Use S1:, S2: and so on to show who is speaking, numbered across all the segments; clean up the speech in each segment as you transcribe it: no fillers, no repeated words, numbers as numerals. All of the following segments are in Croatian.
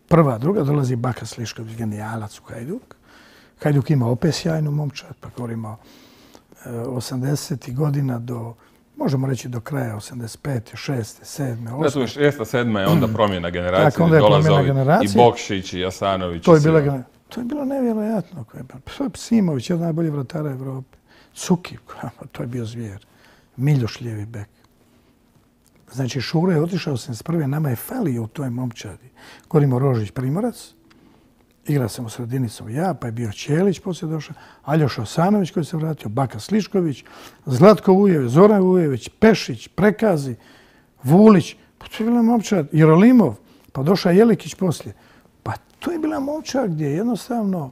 S1: prva, druga, dolazi Baka Slišković, genijalac u Hajduk. Hajduk ima opet sjajnu momčad, pa govorimo 80. godina do, možemo reći do kraja 85. 6. 7. 8.
S2: Da, 6. 7. je onda promjena generacije.
S1: Tako, onda je promjena generacije.
S2: I Bokšić, i Jasanović.
S1: To je bilo nevjerojatno. Simović je od najboljih vratara Evrope. Cuki, to je bio zvijer. Miljoš lijevi bek. Znači, Šuro je otišao 81. Nama je falio u toj momčadi. Govorimo Rožić Primorac. Igrao sam u sredinicu ja, pa je bio Ćelić poslije došao. Aljoša Osanović koji se vratio, Baka Slišković, Zlatko Vujević, Zoran Vujević, Pešić, Prekazi, Vulić. Pa to je bila momčad. Jerolimov, pa došao Jelikić poslije. Pa to je bila momčad gdje jednostavno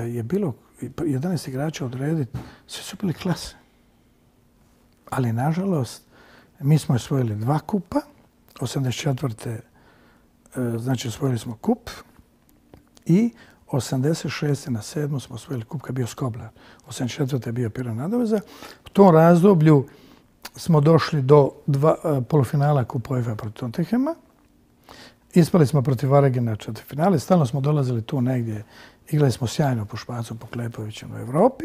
S1: je bilo 11 igrača odrediti. Sve su bili klase. Ali, nažalost, mi smo osvojili 2 kupa. 84. Znači, osvojili smo kup. I 86. na 7. smo osvojili kup kad je bio Skoblar. 84. je bio Piran Nadoveza. U tom razdoblju smo došli do polufinala kupa UEFA protiv Tottenhama. Ispali smo protiv Varegena četvrtfinale. Stalno smo dolazili tu negdje. Igrali smo sjajno po Špacu Poklepovićem u Evropi.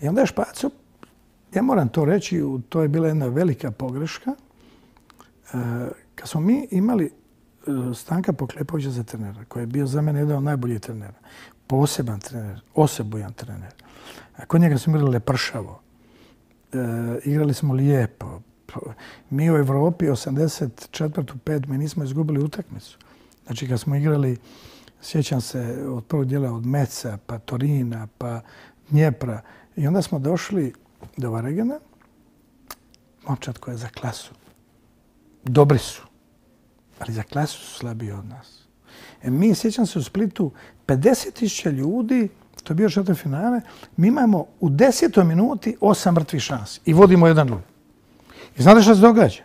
S1: I onda je Špacu, ja moram to reći, to je bila jedna velika pogreška. Kad smo mi imali Stanka Poklepovića za trenera, koji je bio za mene jedan od najboljih trenera. Poseban trener, osebujan trener. Kod njega smo igrali lepršavo. Igrali smo lijepo. Mi u Evropi 84. 5. mi nismo izgubili utakmicu. Znači kad smo igrali, sjećam se od prvog dijela od Meca, pa Torina, pa Dnjepra. I onda smo došli do Varegena. Momčad koja je za klasu. Dobri su. Ali za klasu su slabiji od nas. Mi, sjećam se, u Splitu 50.000 ljudi, to je bio četvrtfinale, mi imamo u 10. minuti 8 mrtvih šansi i vodimo 1-0. I znate što se događa?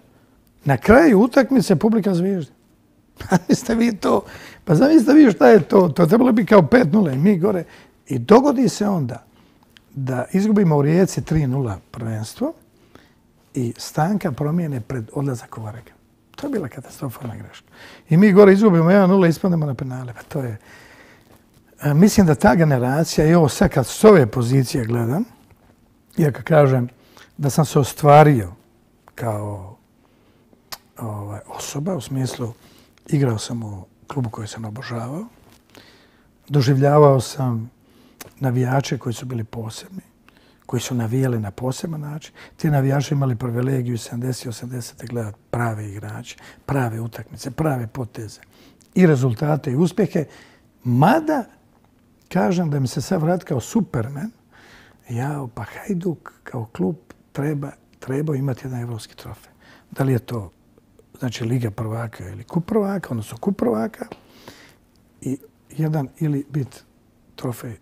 S1: Na kraju utakmice publika zviždi. Zamislite vi to. Pa zamislite vi šta je to. To trebalo bi kao 5-0 i mi gore. I dogodi se onda da izgubimo u Rijeci 3-0 prvenstvo i Stanka promijene pred odlazak u Varegen. To je bila katastrofalna greška. I mi gore izgubimo 1-0 i ispademo na penale. Pa to je... Mislim da ta generacija, i ovo sad kad s ove pozicije gledam, iako kažem da sam se ostvario kao osoba, u smislu igrao sam u klubu koji sam obožavao, doživljavao sam navijače koji su bili posebni, koji su navijali na poseban način. Ti navijači imali privilegiju 70. i 80. gledati prave igrače, prave utakmice, prave poteze i rezultate i uspjehe. Mada, kažem da mi se sad vrati kao Superman, pa Hajduk kao klub treba imati jedan evropski trofej. Da li je to znači Liga prvaka ili kup prvaka, odnosno kup prvaka, i jedan ili biti trofej